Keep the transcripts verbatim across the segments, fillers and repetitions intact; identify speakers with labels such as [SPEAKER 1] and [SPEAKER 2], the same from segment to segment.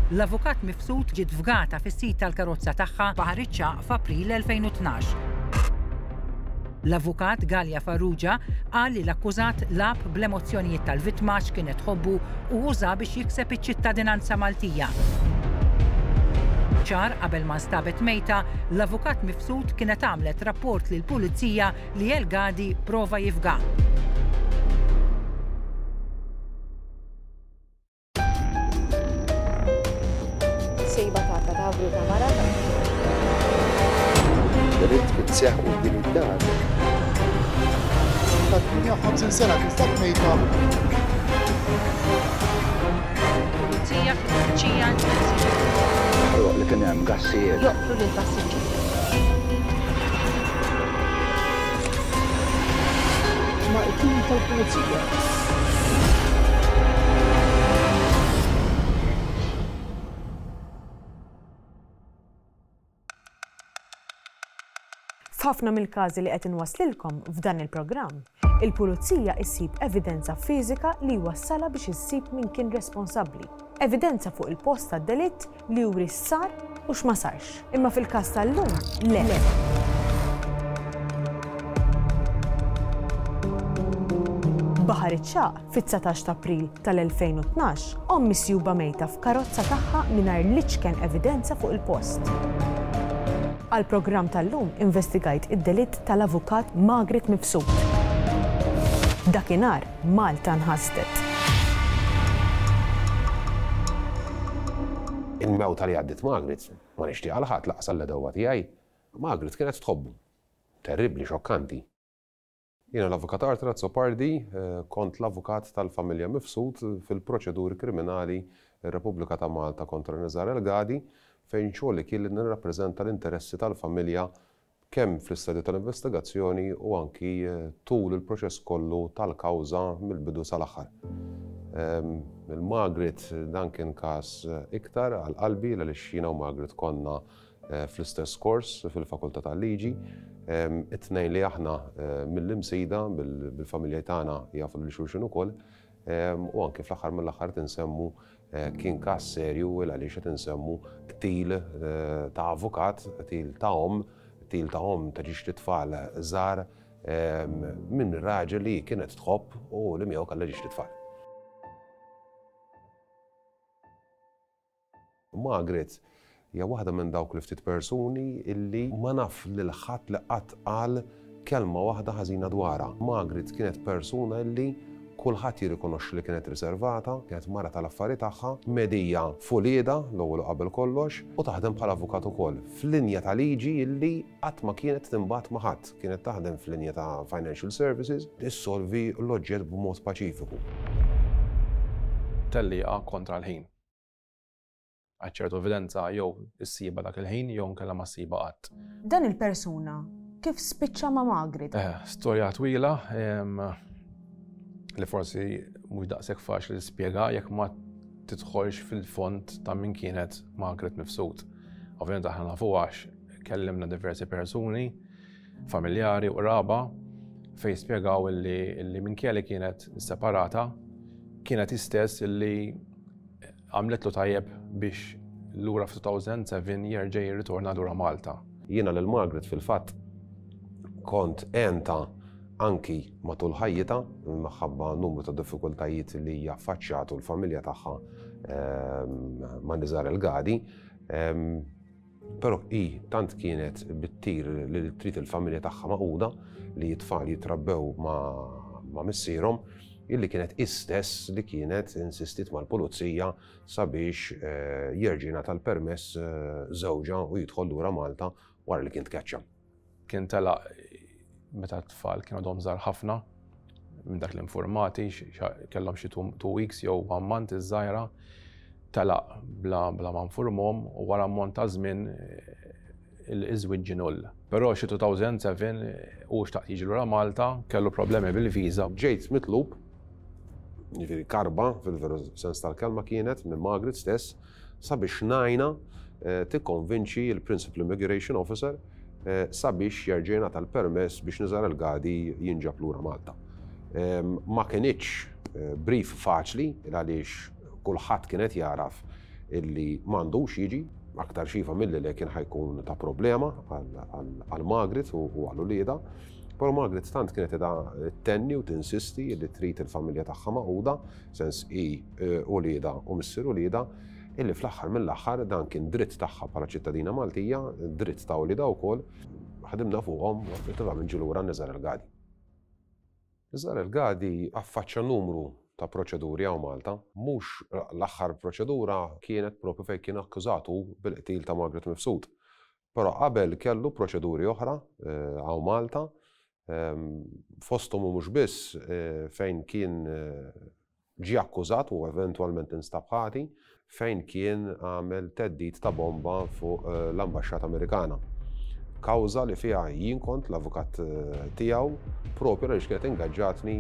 [SPEAKER 1] L-avukat Mifsud ġiet fgata fis-sit tal-karozza tagħha Baħar iċ-Ċagħaq f'April elfejn u tnax. L-avukat Galea Farrugia qal li l-akkużat lagħab bl-emozzjonijiet tal-vittma x'kienet tħobbu u uża biex jikseb iċ-ċittadinanza Maltija. Xahar qabel ma nstabet mejta, l-avukat Mifsud kienet għamlet rapport lil pulizija li El Gadi prova jifga.
[SPEAKER 2] Sejba ta' kadavru ta' mara.
[SPEAKER 3] Delitt kien seħħ quddiem id-dar.
[SPEAKER 4] Ta' tmienja u ħamsin sena tinstab mejta.
[SPEAKER 5] Pulizija fit-tfittxija intensiva.
[SPEAKER 3] Ħoloq li kien hemm gassijiet.
[SPEAKER 5] Joqtlu lil passiġġier.
[SPEAKER 4] Ma' it-tim tal-pulizija.
[SPEAKER 6] F'ħafna mill-każi li qed inwaslilkom f'dan il-programm, il-pulizija issib evidenza fiżika li wassala biex issib min kien responsabbli. Evidenza fuq il-post tad-delitt li juri sar u x'ma sarx. Imma fil-każ tal-lum, le. Baħar iċ-Ċagħaq, fit-dsatax ta' April tal-elfejn u tnax, omm misjuba mejta f'karozza tagħha mingħajr l-iċken evidenza fuq il-post. Għal-programm tal-lum investigajt id-delitt tal-avukat Margaret Mifsud. Dakinhar Malta nħasdet.
[SPEAKER 7] Il-mewta li għaddit Margaret, ma nixtieq għal ħadd, lanqas l-għedewwa tiegħi. Margaret kienet tħobbu. Terribli, xokkanti. Jiena l-avukat Arthur Azzopardi, eh, kont l-avukat tal-familja Mifsud fil-proċeduri kriminali Repubblika ta' Malta kontra Nizar El Gadi, fejn xogħli kien li nirrappreżenta l-interessi tal-familja kemm fl-istadju tal-investigazzjoni u anki eh, tul il-proċess kollu tal-kawża mill-bidu sal-aħħar. Ehm, Il-Margaret dan kien każ eh, iktar għal qalbi għaliex jiena u Margaret konna eh, fl-istess kors fil-Fakultà tal-Liġi. Ehm, It-tnejn li aħna mill-Imsida bil-familja tagħna jafu lil xulxin ukoll. Ehm, u anki fl-aħħar mill-aħħar tinsemmu kien każ serju għaliex qed insemmu qtil ta' avukat, qtil ta' omm, qtil ta' omm ta' żewġt itfal żgħar minn raġel li kienet tħobb u li miegħu kellha żewġt itfal. Margaret hija waħda minn dawk li ftit persuni illi ma naf lil ħadd li qatt qal kelma waħda ħażina dwarha. Margaret kienet persuna illi kulħadd jirrikonoxxi li kienet riservata, kienet mara tal-affari tagħha, medija f'uliedha l-ewwel qabel kollox u taħdem bħala avukat ukoll f'linja ta' liġi illi qatt ma kienet tinbat ma' ħadd. Kienet taħdem f'linja ta' financial services, issolvi l-oġġett b'mod paċifiku.
[SPEAKER 8] Tellieqa kontra l-ħin. Għal ċertu evidenza jew issibha dak il-ħin jew nkella ma ssibha qatt.
[SPEAKER 6] Dan il-persuna kif spiċċa ma' Margaret?
[SPEAKER 8] Eh, storja twila li forsi mhux daqshekk faċli tispjega jekk ma tidħolx fil-fond ta' min kienet Margaret Mifsud. Ovvjament aħna nafu għax kellimna diversi persuni, familjari u qraba, fejn spjegaw illi, illi minkejja li kienet separata, kienet istess illi għamletlu tajjeb biex lura f'elfejn u sebgħa jerġa' jirritorna lura Malta.
[SPEAKER 7] Jiena lil Margaret fil-fatt kont għentha anki matul ħajjitha minħabba numru ta' diffikultajiet li hija affaċċjatu l-familja tagħha ehm, ma' Nizar El Gadi. Ehm, Però hi tant kienet bittir li trid il-familja tagħha magħquda, li t-tfal jitrabbew ma' ma' missierhom, illi kienet istess li kienet insistit mal-pulizija sabiex eh, jerġa' jingħata l-permess eh, żewġha u jidħol lura Malta wara li kien tkeċċa.
[SPEAKER 8] Kien telaq meta t-tfal kienu għadhom żgħar ħafna, minn dak l-informati, kellhom xi two weeks jew one month iż-żgħira, telaq bla bla ma nfurmhom u wara ammont ta' żmien iż-żwieġ ġie null. Però xi elfejn u sebgħa u xtaq jiġi lura Malta, kellu problemi bil-viża.
[SPEAKER 7] Ġejt mitlub, jiġifieri karba fil-veru sens tal-kelma kienet minn Margaret stess, sabiex ngħinha eh, tikkonvinċi il-Principal Immigration Officer eh, sabiex jerġa' jingħata l-permess biex Nizar El Gadi jinġab lura Malta. Ma kinitx eh, brief faċli għaliex kulħadd kienet jaraf illi m'għandux jiġi, aktar xifa milli li kien ħajkun ta' problema għal Margaret u għal uliedha. Però Margaret tant kienet qiegħda tenni u tinsisti li trid il-familja tagħha magħquda, sens hi uliedha u missier uliedha, illi fl-aħħar mill-aħħar dan kien dritt tagħha bħala ċittadina Maltija, dritt ta' uliedha wkoll, ħadimna fuqhom u effettivament ġie lura Nizar El Gadi. Nizar El Gadi affaċċja numru ta' proċeduri hawn Malta, mhux l-aħħar proċedura kienet propju fejn kien akkużatu bil-qtil ta' Margaret Mifsud. Però qabel kellu proċeduri oħra hawn Malta, fosthom u mhux biss fejn kien ġie akkużat u eventwalment instab ħati, fejn kien għamel theddid ta' bomba fuq l-Ambaxxata Amerikana. Kawża li fiha jien kont l-avukat tiegħu propju għaliex kienet ingaġġatni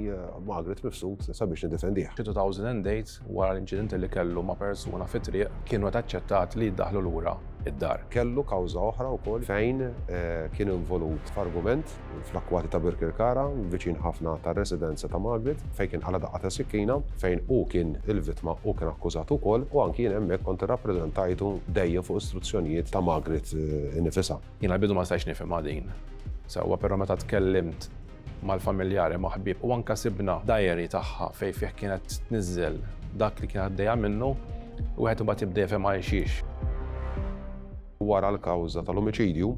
[SPEAKER 7] Margaret Mifsud sabiex nidefendih.
[SPEAKER 8] Fi two thousand and eight, wara l-inċident li kellu ma' persuna fit-triq, kienu qed aċċettat li jiddaħlu lura id-dar.
[SPEAKER 7] Kellu kawża oħra wkoll fejn kien involut f'argument fl-akkwati ta' Birkirkara, viċin ħafna tar-residenza ta' Margaret, fejn kien qala daqqa ta' sikkina, fejn hu kien il-vittma u kien akkużat ukoll, u anki jien hemmhekk kont irrappreżentajtu dejjem fuq istruzzjonijiet ta' Margaret innifisha.
[SPEAKER 8] Jiena l-bidu ma stajtx nifhimha din. Sewwa, però meta tkellimt mal-familjari, ma' ħbieb, u anke sibna diary tagħha fejn fih kienet tniżżel dak li kien għaddejja minnu, wieħed imbagħad jibda jifhem għal xiex.
[SPEAKER 7] Wara l-kawża tal-omiċidju,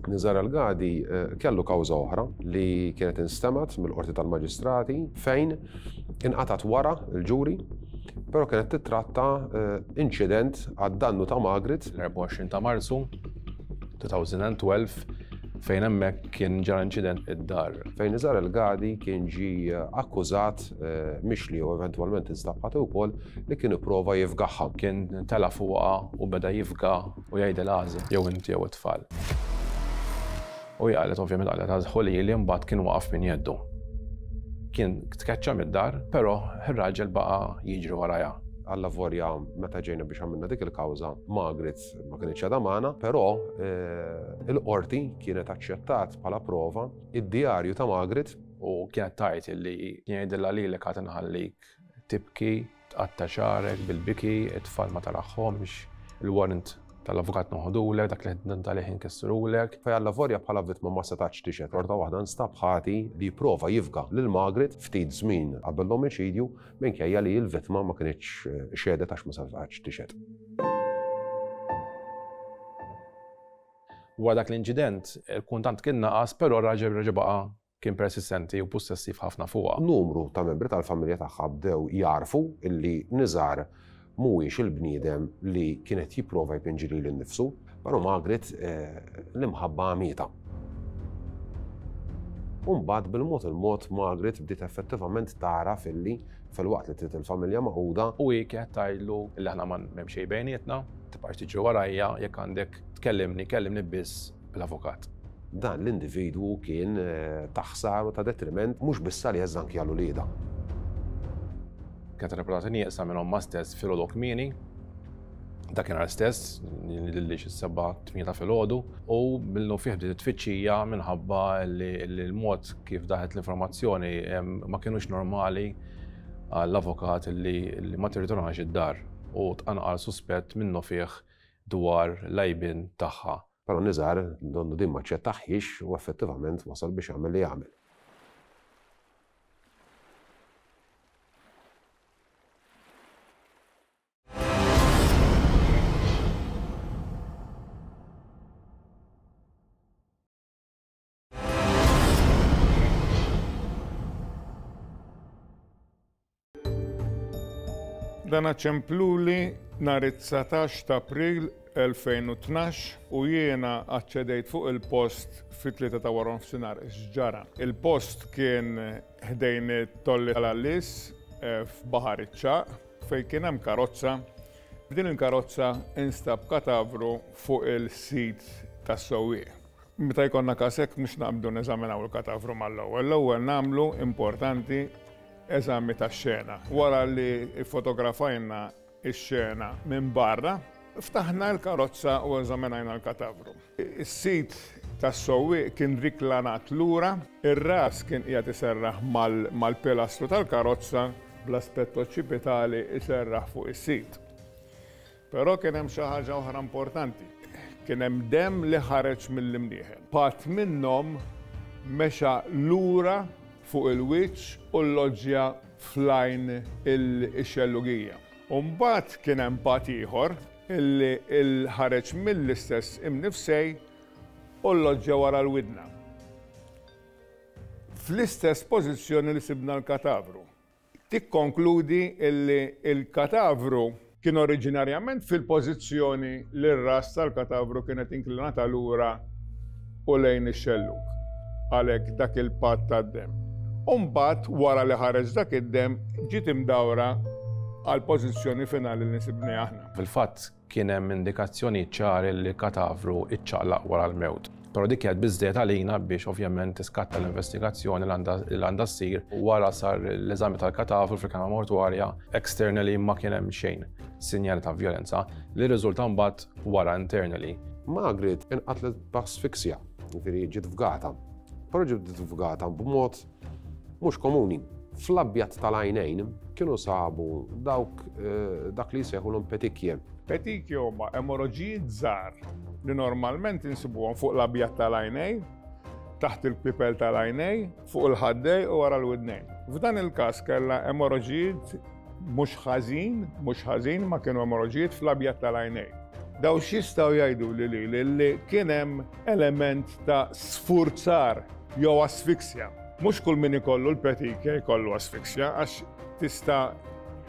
[SPEAKER 7] Nizar El Gadi kellu kawża oħra li kienet instemgħet mill-Qorti tal-Maġistrati fejn inqatat wara l-ġuri, però kienet titratta inċident għad-dannu ta' Margaret.
[SPEAKER 8] L-erbgħa u għoxrin ta' Marzu two thousand and twelve, fejn hemmhekk kien ġara inċident id-dar.
[SPEAKER 7] Fejn Nizar El Gadi kien ġie akkużat mixli u eventwalment instab ħati wkoll li kien ipprova jifgaħha.
[SPEAKER 8] Kien tela' fuqha u beda jifga u jgħidilha għażel jew inti jew it-tfal. U hi qalet ovvjament qalet għażħu lili, mbagħad kien waqaf minn jeddu. Kien tkeċċa mid-dar, però ir-raġel baqa' jiġri warajha.
[SPEAKER 7] Allavolja meta ġejna biex għamilna dik il-kawża, Margaret ma kinitx għadha magħna, però il-qorti kienet aċċettat bħala prova id-djarju ta' Margaret.
[SPEAKER 8] U kienet tgħid illi kien jgħidilha lilek għad inħallik tibki, tqatta' xagħrek bil-biki, it-tfal ma taraħħomx, il-warrant tal-avukat noħodulek, dak li ħdint għalih inkissrulek.
[SPEAKER 7] Fej allavolja bħala vittma ma setax tixhed, xorta waħda nstab ħati li jipprova jifga lil Margaret ftit żmien qabel l-omiċidju minkejja li l-vittma ma kinitx xehdet għax ma setgħetx tixhed.
[SPEAKER 8] Wara dak l-inċident, il-kuntant kien naqas, però r-raġel reġa' baqa' kien persistenti u possessiv ħafna fuqha.
[SPEAKER 7] Numru ta' membri tal-familja tagħha bdew jarfu illi Nizar mhuwiex il-bniedem li kienet jipprova jpinġi lilu nnifsu, però Margaret l-imħabba għamietha. U mbagħad bil-mod il-mod Margaret bdiet effettivament tara filli fil-waqt li trid il-familja magħquda.
[SPEAKER 8] U hi kienet tgħidlu li aħna ma m'hemm xejn bejnietna, tibqax tiġri warajja, jekk għandek tkellimni, kellimni biss bl-avukat.
[SPEAKER 7] Dan l-individwu kien ta' ħsar u ta' detriment mhux biss għalija iżda anki għal uliedha.
[SPEAKER 8] Kienet rapportata nieqsa minn ommha stess filgħodu kmieni, dakinhar stess, lili xi seba' tmienja ta' filgħodu, u minnu fih bdiet tfittxija minħabba li l-mod kif daħet l-informazzjoni ma kinux normali għall-avukat li ma tirritornax id-dar u tqanqal suspett minnu fih dwar l-għajbien tagħha.
[SPEAKER 7] Però Nizar donnu din ma ċċettaħiex u effettivament wasal biex jagħmel li jagħmel.
[SPEAKER 9] Dan ċempluli nhar it-dsatax ta' April elfejn u tnax u jiena aċċedejt fuq il-post fit-tlieta ta' wara nofsinhar x'ġara. Il-post kien ħdejn it-tolli tal-Għallis f'Baħar iċ-Ċagħaq fejn kien hemm karozza. F'din il-karozza instab katavru fuq il-sit tas-sewwieq. Meta jkollna każ hekk mhux naqbdu neżaminaw il-katavru mal-ewwel. L-ewwel nagħmlu importanti eżami tax-xena. Wara li fotografajna x-xena minn barra, ftaħna l-karozza u eżaminajna l-katavru. Is-sit tas-sewwieq kien riklanat lura, ir-ras kien qiegħed iserraħ mal-pilastru tal-karozza bl-aspett oċċipitali iserraħ fuq is-sit. Però kien hemm xi ħaġa oħra importanti. Kien hemm demm li ħareġ mill-imnieħen. Part minnhom mexa lura fuq il-wiċċ u l-loġġja fl-għajn ix-xellugija. U mbagħad kien hemm part ieħor illi ħareġ mill-istess imnifsej u l-loġġja wara l-widna. Fl-istess pożizzjoni li sibna l-katavru. Tikkonkludi illi l-katavru kien oriġinarjament fil-pożizzjoni li r-ras tal-katavru kienet inklinata lura u lejn ix-xellug. Għalhekk dak il-patt tad-demm. U mbagħad wara li ħareġ dak id-demm ġiet imdawra għal pożizzjoni finali li sibni aħna.
[SPEAKER 8] Fil-fatt kien hemm indikazzjoni ċari li l-katavru iċċaqlaq wara l-mewt. Però dik kienet biżżejjed għalina biex ovvjament tiskatta l-investigazzjoni li għandha ssir. Wara sar l-eżami tal-katavru fil-kamra mortwarja, externally ma kien hemm xejn sinjali ta' vjolenza li rriżulta mbagħad wara internally.
[SPEAKER 7] Margaret inqatlet b'asfiksja, jiġifieri ġiet fgata. Però ġiet fgata b'mod mhux komuni. Fl-abjad tal-għajnejn kienu sabu dawk dak li jsejħulhom petikje.
[SPEAKER 9] Petikje huma emoroġijiet żgħar li normalment insibuhom fuq l-abjad tal-għajnej, taħt il-pipel tal-għajnej, fuq il-ħaddej u wara l-widnejn. F'dan il-każ kellha emoroġijiet mhux ħażin, mhux ħażin ma kienu emoroġijiet fl-abjad tal-għajnej. Daw x'jistgħu jgħidu li li li kien hemm element ta' sfurzar jew asfiksja. Mhux kull min ikollu l-petikja jkollu asfiksja għax tista'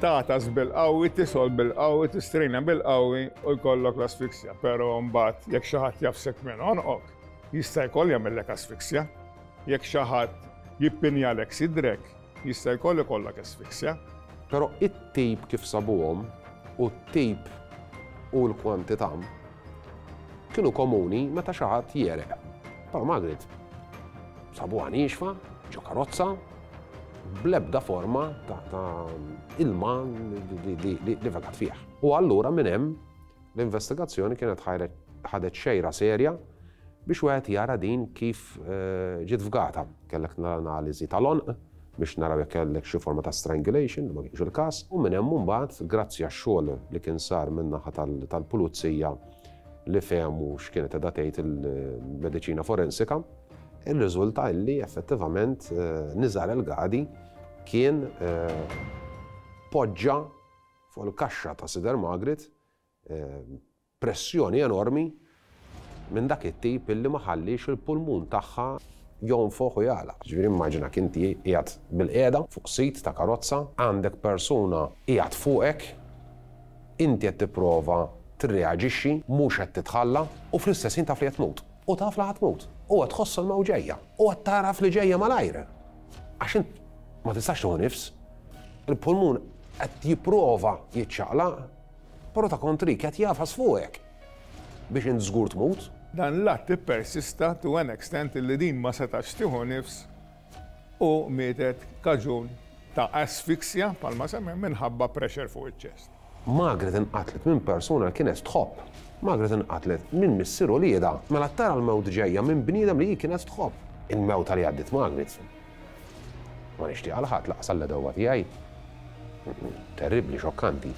[SPEAKER 9] tagħtas bil-qawwi, tisol bil-qawwi, tistrina bil-qawwi u jkollok l-asfiksja. Però mbagħad jekk xi ħadd jafsek minn għonqok, jista' jkoll jagħmellek asfiksja. Jekk xi ħadd jippinjalek sidrek, jista' jkoll ikollok asfiksja.
[SPEAKER 7] Però it-tip kif sabuhom u t-tip u l-kwantità kienu komuni meta xi ħadd jereq. Però Margaret sabuha niexfa, ġo karozza, bl-ebda forma ta' ilma li vegat fih. U allura minn hemm l-investigazzjoni kienet ħadet xejra serja biex wieħed jara din kif ġiet fgata. Kellek l-analiżi tal-għonq biex naraw jekk kellek xi forma ta' strangulation, li ma kienx il-każ, u minn hemm imbagħad grazzi għax-xogħol li kien sar min-naħa tal-pulizija li fehmu x'kienet qiegħda tgħid il-mediċina forensika, irriżulta li effettivament Nizar El-Gadi kien poġġa fuq il-kaxxa ta' sider Margaret pressjoni enormi minn dak it-tip illi ma ħallix il-pulmun tagħha jonfoħ u jagħlaq. Ġifieri immaġina inti qiegħed bil-qiegħda fuq sit ta' karozza, għandek persuna qiegħed fuqek, inti qed tipprova tirreaġixxi, mhux qed titħalla u fl-istess ħin taf li qed tmut. U taf li ħa tmut. U qed tħoss il-mewt ġejja. U qed taraf li ġejja malajr. Għax int ma tistax tieħu nifs. Il-pulmun qed jipprova jiċċaqlaq, però ta' kontrik qed jafas fuqek biex int żgur tmut.
[SPEAKER 9] Dan l-att ippersista to an extent li din ma setax tieħu nifs u mietet kaġun ta' asfiksja palma semmi minħabba pressure fuq iċ-ċest.
[SPEAKER 7] Margaret inqatlet minn persuna li kienet tħobb. Margaret inqatlet minn missier u lieda. Mela tara l-mewt ġejja minn bniedem li hi kienet tħobb. Il-mewt li għaddiet Margaret ma nixtieq għal ħadd laqas għall-għedewwa tiegħi. Terribbli, xokkanti.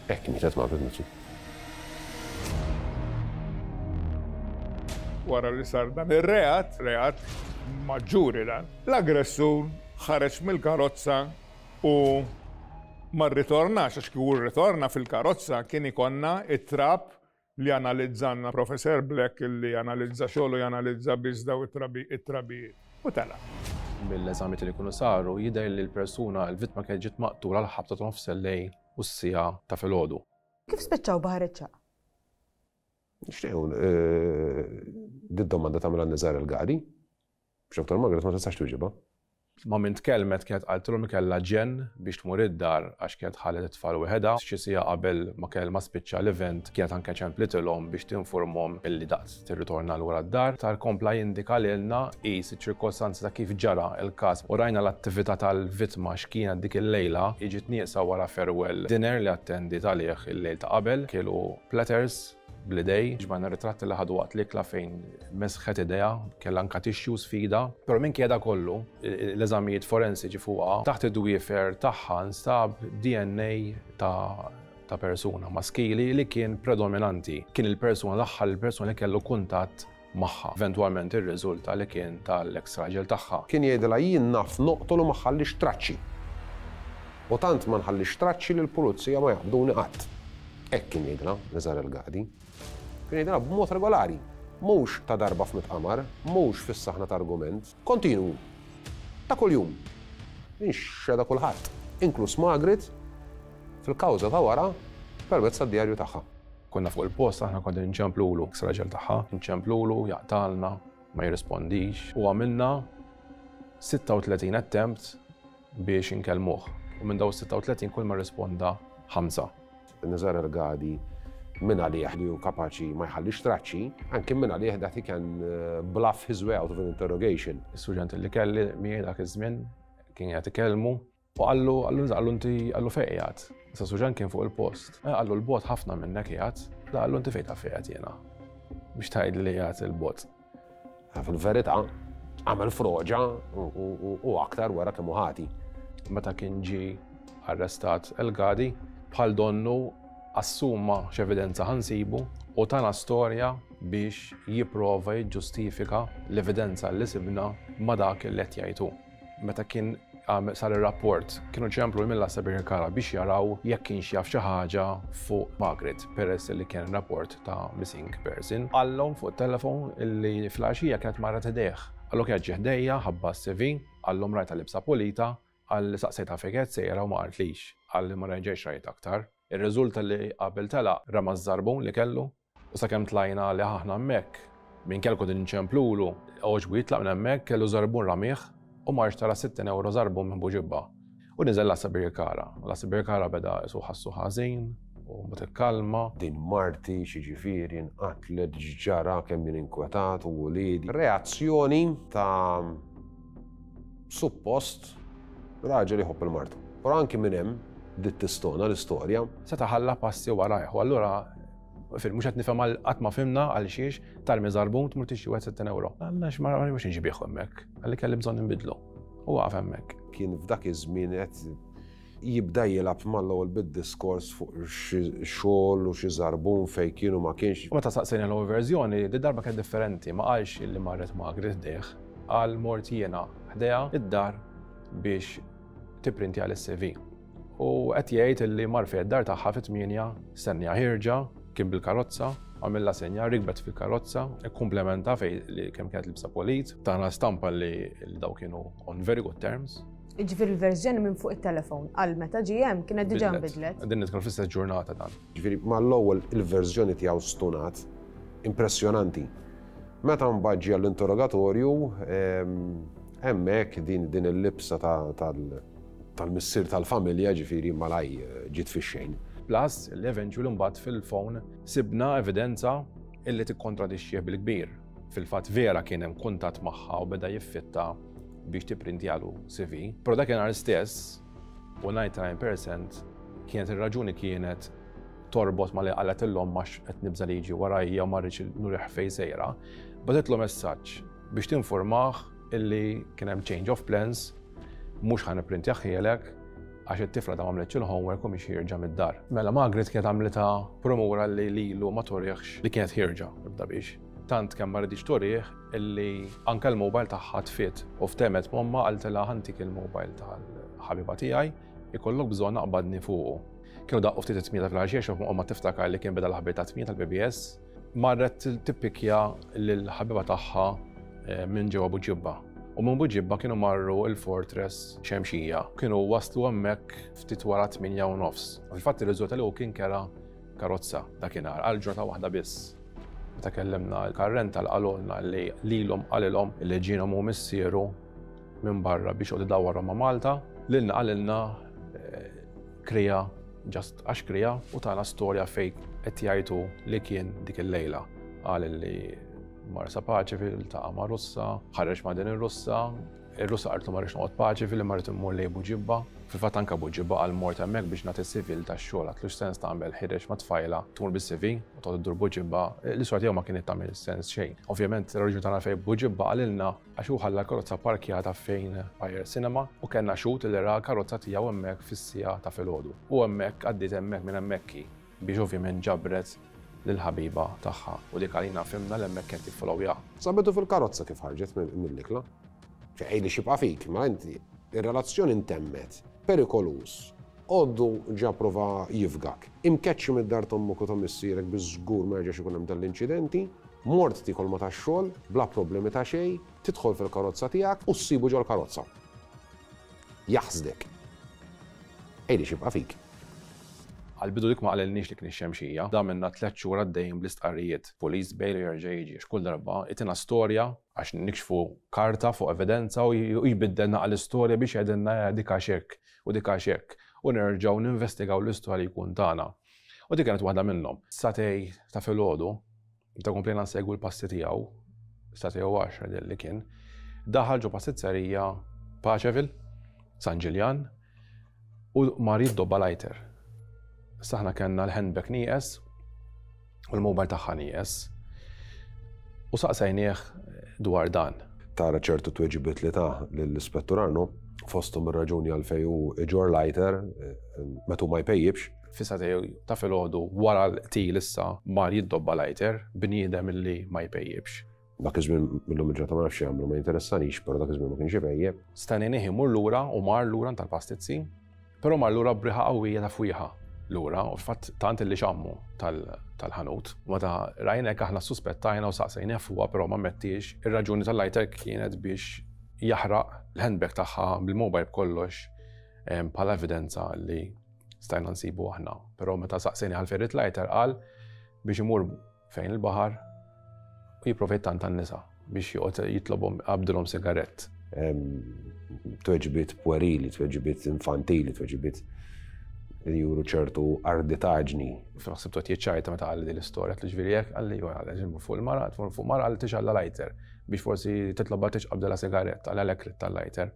[SPEAKER 7] Hekk mietet Margaret Mifsud.
[SPEAKER 9] Wara li sar dan ir-reat, reat maġġuri dan, l-aggressur ħareġ mill-karozza u ma rritornax, għax kieku rritorna fil-karozza kien ikonna it-trab li analizzanna Professor Black li analizza xogħol u janalizza biss daw it-trabijiet. U telaq.
[SPEAKER 8] Mill-eżamijiet li jkunu saru jidher li l-persuna, l-vittma kienet ġiet maqtula l-ħabta ta' nofs il-lejl u s-siegħa ta' filgħodu.
[SPEAKER 6] Kif spiċċaw Baħar iċ-Ċagħaq?
[SPEAKER 7] Nixtiequ did-domanda tagħmilha Nizar El-Gadi. Biex Doktor Margaret ma tistax tweġibha.
[SPEAKER 8] Ma' min tkellmet kienet qaltilhom li kellha ġenn biex tmur id-dar għax kienet ħallet it-tfal weħedha. Xi siegħa qabel ma kell ma spiċċa l-event kienet anke ċemplitilhom biex tinformhom illi daqs tirritorna lura d-dar. Tar kompla jindika lilna tqis iċ-ċirkostanzi ta' kif ġara l-każ u rajna l-attività tal-vittma x'kienet dik il-lejla ġiet nieqsa wara farewell dinner li attendiet għalih il-lejl ta' qabel. Kielu platters bl-idej, ġbajna ritratti li ħadu waqt l-ikla fejn mesħet idea, kellha anka tissues f'idha. Però minkejja da kollu, l-eżamijiet forensiċi fuqha, taħt id-dwiefer tagħha nstab D N A ta' ta' persuna maskili li kien predominanti. Kien il-persuna l-aħħar il-persuna li kellu kuntatt magħha. Eventwalment irriżulta li kien tal-ex raġel tagħha.
[SPEAKER 7] Kien jgħidilha jien naf noqtol u ma nħallix traċċi. U tant ma nħallix traċċi li l-pulizija ma jaqbduni qatt. Hekk kien jgħidilha Nizar El-Gadi. Kien jgħidilha b'mod regolari, mhux ta' darba f'mitt qamar, mhux fis-saħna ta' argument, kontinu, ta' kuljum. Inxeda kulħadd, inkluż Margaret, fil-kawża ta' wara permezz tad-djarju tagħha.
[SPEAKER 8] Konna fuq il-post, aħna konna nċemplulu, raġel tagħha, nċemplulu, jaqtalna, ma jirrispondix. U għamilna sitta u tletin attempt biex inkellmuh. U minn daw sitta u tletin kull ma rrisponda ħamsa.
[SPEAKER 7] Nizar El-Gadi minn għalih li hu kapaċi ma jħallix traċċi, anke minn għalih that he can bluff his way out of an interrogation.
[SPEAKER 8] Is-surġent li kelli miegħi dak iż-żmien kien qed ikellmu u qallu, qallu, qallu inti, qallu fejn qiegħed. Issa surġent kien fuq il-post. Eh, qallu l-bot ħafna minnek qiegħed. Da qallu inti fejn taf qiegħed jiena. Biex tgħid li qiegħed il-bot.
[SPEAKER 7] Fil-verità, għamel froġa u, u, u, u aktar wara kemm hu ħati.
[SPEAKER 8] Meta kien ġie arrestat El-Gadi, bħal donnu assuma x'evidenza ħansibu u tana storja biex jipprova jiġġustifika l-evidenza li sibna ma' dak li qed jgħidu. Meta kien għam-, sar ir-rapport, kienu ċemplu mill-Għassa Birkirkara biex jaraw jekk kienx jaf xi ħaġa fuq Margaret, peress li kien rapport ta' missing person. Qallhom fuq telefon illi fl-għaxija kienet marret idejh. Qallu kienet ġie ħdejja, ħabba s-C V, qallhom rajta libsa pulita, qal saqsejtha fejn kienet sejra u ma qaltlix, qal li ma reġgħex rajt aktar. Ir-riżulta li qabel tela rama ż-żarbun li kellu u sakemm tlajna li aħna hemmhekk minn kelku din ċemplulu, għoġbu jitlaq minn hemmhekk kellu żarbun ramih u marx tara sittin euro żarbun minn Buġibba. U niżel l-Għassa Birkirkara. L-Għassa Birkirkara beda jisu ħassu ħażin u mbagħad ikkalma.
[SPEAKER 7] Din marti xiġifieri nqatlet ġara kemm jien inkwetat u wliedi. Reazzjoni ta' suppost raġel jħobb il-martu. Però anki minn hemm bdiet tistona l-istorja.
[SPEAKER 8] Seta' ħalla passi warajh u allura fil mhux qed nifhem għal qatt ma fhimna għal xiex tarmi żarbun tmur tixtri wieħed sittin euro. Għalla x'ma mhux inġibieħu hemmhekk, għalli kelli bżonn inbidlu. U waqaf hemmhekk.
[SPEAKER 7] Kien f'dak iż-żmien qed jibda jilgħab mal-ewwel bid-diskors fuq xi xogħol u xi żarbun fejn kienu ma kienx.
[SPEAKER 8] U meta saqsejna l-ewwel verżjoni, di darba kienet differenti, ma qalx illi marret Margaret ħdejh, qal mort jiena ħdejha id-dar biex tipprintja l-C V. U qed jgħid illi mar fejn id-dar tagħha fit-tmienja, stennija ħierġa, kien bil-karozza, għamilla senja, rikbet fil-karozza, ikkumplementa fej li kemm kienet libsa polit, tana stampa li, li daw kienu on very good terms.
[SPEAKER 6] Jiġifieri l-verżjoni minn fuq it-telefon għal meta ġie hemm kienet diġà
[SPEAKER 8] Bidlet.
[SPEAKER 6] nbidlet.
[SPEAKER 8] Din nitkellmu fl-istess ġurnata dan.
[SPEAKER 7] Jiġifieri mal-ewwel il-verżjoni tiegħu stunat, impressjonanti. Meta mbagħad ġie għall-interrogatorju, ehm, hemmhekk din, din il-libsa ta-, tal-, tal-missier tal-familja ġifieri malaj ġiet fix-xejn.
[SPEAKER 8] Plus, l-eventually mbagħad fil-phone sibna evidenza illi tikkontradixxih bil-kbir. Fil-fatt vera kien hemm kuntatt magħha u beda jiffitta biex tipprintjalu C V. Però dakinhar stess, u ninety-nine percent kienet ir-raġuni kienet torbot ma li qalet illum għax qed nibża' li jiġi warajja u ma rridx nurih fejn sejra. Bagħtitlu messaġġ biex tinformah illi kien hemm change of plans, mhux ħa nipprintjahielek għax it-tifla ta' m'għamlitx il-homework u mhix ħierġa mid-dar. Mela Margaret kienet għamlitha promura li lilu ma torieħx li kienet ħierġa ibda biex. Tant kemm ma rridx torih illi anke l-mobile tagħha tfiet u ftemet momma qaltilha ħantik il-mobile tal-ħabiba tiegħi ikollok bżonn naqbadni fuqu. Kienu daqqu ftit it-tmienja fil-għaxija xi omma tiftakar li kien beda l-ħabir ta' tmienja tal-B B S, marret tippikja lill-ħabiba tagħha, eh, minn ġewwa Buġibba. U minn Buġibba kienu marru il-Fortress Xemxija. Kienu waslu hemmhekk ftit wara tmienja u nofs. Fil-fatt irriżulta li hu kien kera karozza dakinhar għal ġurnata waħda biss. Meta kellimna l-karrenta qalulna li lilhom qalilhom li ġienhom hu missieru minn barra biex joqgħod idawwarhom ma' Malta, lilna qalilna, eh, krija, just għax krija, u tana storja fejn qed jgħidu li kien dik il-lejla. Qal li mar Sa Paċe fil-taqa ma' Russa, ħareġ ma' din ir-Russa, Ir-Russa qaltlu ma rridx noqgħod Paceville, ma rrid immur lejn Buġibba. Fil-fatt anke Buġibba għal mort hemmhekk biex nagħti C V tax-xogħol, għatlu x'sens tagħmel ħireġ ma' tfajla tmur bis-C V u toqgħod iddur Buġibba, l-istorja tiegħu ma kienet tagħmel sens xejn. Ovvjament ir-raġuni tagħna fejn Buġibba qalilna għax hu ħalla l-karozza parkjata fejn Fire Cinema u kellna xhud li ra l-karozza tiegħu hemmhekk fis-siegħa ta' filgħodu. U hemmhekk għaddiet hemmhekk minn hemmhekk biex ovvjament ġabret lill-ħabiba tagħha u dik għalina fhimna l hemmhekk kien tiffollowja.
[SPEAKER 7] Sabetu fil-karozza kif ħarġet mill-ikla. Ej li xibqa fik, ma inti, ir-relazzjoni intemmet, perikoluż, għoddu ġa prova jifgak. Imkeċċi mid-dar t'ommok u ta' missierek biex żgur ma jerġax ikun hemm dal-inċidenti, mort tikol ma tax-xogħol, bla problemi ta' xejn, tidħol fil-karozza tiegħek u ssibu ġol-karozza. Jaħsdek. Ej li xibqa fik.
[SPEAKER 8] Għal-bidu dik ma qalilniex li kien ix-Xemxija. Da minna tliet xhur għaddejjin bl-istqarrijiet. Police bail jerġa' jiġi. Kull darba itina storja għax nikxfu karta fuq evidenza u jbiddelna għall-istorja biex jgħidilna dik għax hekk u dik għax hekk. U nerġgħu ninvestigaw l-istorja li jkun tagħna. U dik kienet waħda minnhom. Sagħtejn ta' filgħodu, meta komplejna nsegwu l-passi tiegħu, sagħtejn u għaxra li kien, daħal ġo pastizzerija Paceville, San Ġiljan, u mar jiddobba lighter. Aħna kellna l-handbag nieqes u l-mobile tagħha nieqes. U saqsajnieh dwar dan.
[SPEAKER 7] Tara ċertu tweġibiet li ta l-ispettur Arno, fosthom ir-raġuni għalfejn hu iġorr lighter meta ma jpejjibx.
[SPEAKER 8] Fis-sagħtejn ta' filgħodu wara l-qtil issa mar jiddobba lighter, bniedem illi ma jpejjibx.
[SPEAKER 7] Dak iż-żmien millum il-ġurnata ma nafx jagħmlu, ma jinteressanix, però dak iż-żmien ma kienx ipejjeb.
[SPEAKER 8] Stennejnieh imur lura u mar lura tal-pastizzi, però mar lura b'riħa qawwija ta' fwieħa lura u fatt tant li xammu tal-ħanut. Meta rajnek aħna suspettajna u saqsejna fuqha, però ma mettix ir-raġuni tal-lighter kienet biex jaħraq l-handbag tagħha bil-mobile b'kollox bħala evidenza li stajna nsibu aħna. Però meta saqsejna għal ferrit lighter qal biex imur fejn il-baħar u jipprova jittanta n-nisa biex joqgħod jitlobhom qabdilhom sigarett.
[SPEAKER 7] Tweġibiet puerili, tweġibiet infantili, tweġibiet li juru ċertu arditaġni.
[SPEAKER 8] Fil-ħsibtu qed jiċċajta meta qalli din l-istorja, li ġifieri hekk qalli jew għal ġimmu fuq il-mara, tmur fuq mara qalli tixgħella lighter biex forsi titlobha tixqabdilha sigarett, għal għalhekk tal-lighter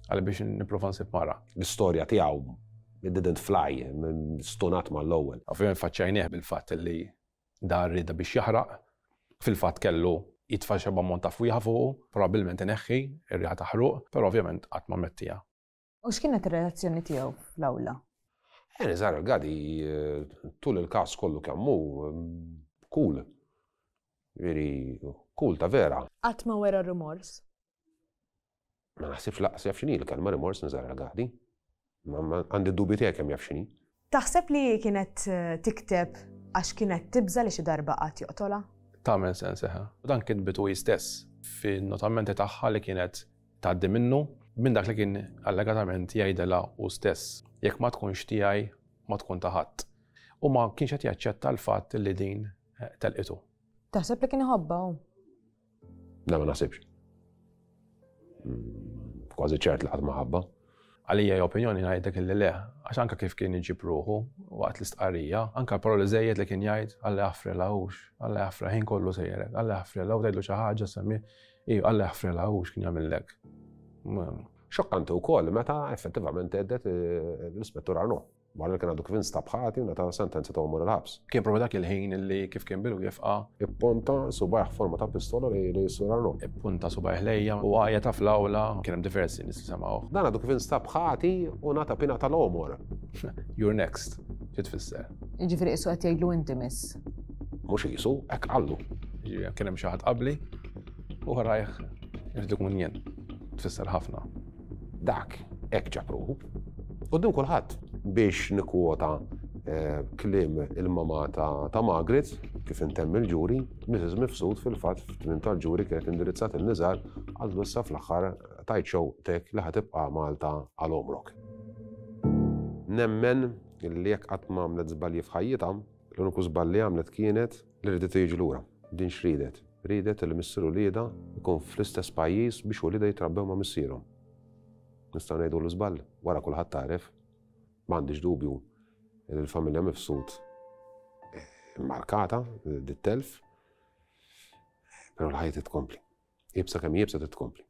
[SPEAKER 8] għal biex nipprova nsib mara.
[SPEAKER 7] L-istorja tiegħu it didn't fly, stonat mal-ewwel.
[SPEAKER 8] Ovvjament faċċajnieh bil-fatt li dar rida biex jaħraq, fil-fatt kellu jitfa' xi ammont ta' fwieħa fuqu, probabbilment ineħħi ir-riħa ta' ħruq, però ovvjament qatt ma mettija.
[SPEAKER 6] U x'kienet ir-reazzjoni tiegħu fl-awla?
[SPEAKER 7] Nizar El-Gadi tul il-kas kollu kemm hu cool. Veri cool ta' vera.
[SPEAKER 6] Qatt ma wera rimors?
[SPEAKER 7] Ma naħsibx laqas jaf x'inhi l-kelma rimors Nizar El-Gadi. Għandi dubji tiegħek kemm jaf x'inhi.
[SPEAKER 6] Taħseb li kienet tikteb għax kienet tibża li xi darba qatt joqtolha?
[SPEAKER 8] Tagħmel sens eħe. U dan kitbitu hi stess fin-notamenti tagħha li kienet tgħaddi minnu minn dak li kien allegatament jgħidilha hu stess. Jekk ma tkunx tiegħi ma tkun ta' ħadd. U ma kienx qed jaċċetta l-fatt li din telqitu.
[SPEAKER 2] Taħseb li kien iħobbha hu?
[SPEAKER 7] Le, ma naħsibx. Kważi ċert li qatt ma ħabbha.
[SPEAKER 8] Għalija opinjoni ngħidlek illi le, għax anka kif kien iġib ruħu waqt l-istqarrija, anka paroli żejjed li kien jgħid Alla jaħfrilha hux, Alla jaħfrilha ħin kollu sejjerek, Alla jaħfrilha u tgħidlu xi ħaġa semmi, iju Alla jaħfrilha hux kien jagħmillek.
[SPEAKER 7] Xokkanti wkoll meta effettivament għeddet l-ispettur Arno. Wara li kien għadu kif instab ħati u ngħata sentenza ta' għomor il-ħabs.
[SPEAKER 8] Kien propju dak il-ħin li kif kien bil-wieqfa.
[SPEAKER 7] Ipponta subajh forma ta' pistola li l-sur Arno.
[SPEAKER 8] Ippunta subajh lejja u għajja ta' fl-awla kien hemm diversi nies li semgħu.
[SPEAKER 7] Dan għadu kif instab ħati u ngħata pina tal-għomor.
[SPEAKER 8] You're next. Xi tfisser?
[SPEAKER 2] Jiġifieri qisu qed jgħidlu inti miss.
[SPEAKER 7] Mhux qisu, hekk qallu.
[SPEAKER 8] Jiġifieri kien hemm xi ħadd qabli u warajh irid ikun jien. Tfisser ħafna.
[SPEAKER 7] Dak hekk ġab ruħu. Quddiem kulħadd biex nikkwota kliem il-mama ta' Margaret, kif intemm il-ġuri, Missus Mifsud fil-fatt f'tmiem tal-ġuri kienet indirizzat il-Nizar għal issa fl-aħħar tajt xewqtek li ħa tibqa' Malta għal għomrok. Nemmen li jekk qatt ma għamlet żbalji f'ħajjitha, l-uniku żball li għamlet kienet li ridet tiġi lura. Din x'ridet? Ridet li missier uliedha jkun fl-istess pajjiż biex uliedha jitrabbew ma' missierhom. Nistgħu ngħidu l-żball, wara kulħadd tagħref. M'għandix dubju li l-familja Mifsud markata dit-telf, però l-ħajja titkompli. Iebsa kemm iebsa titkompli.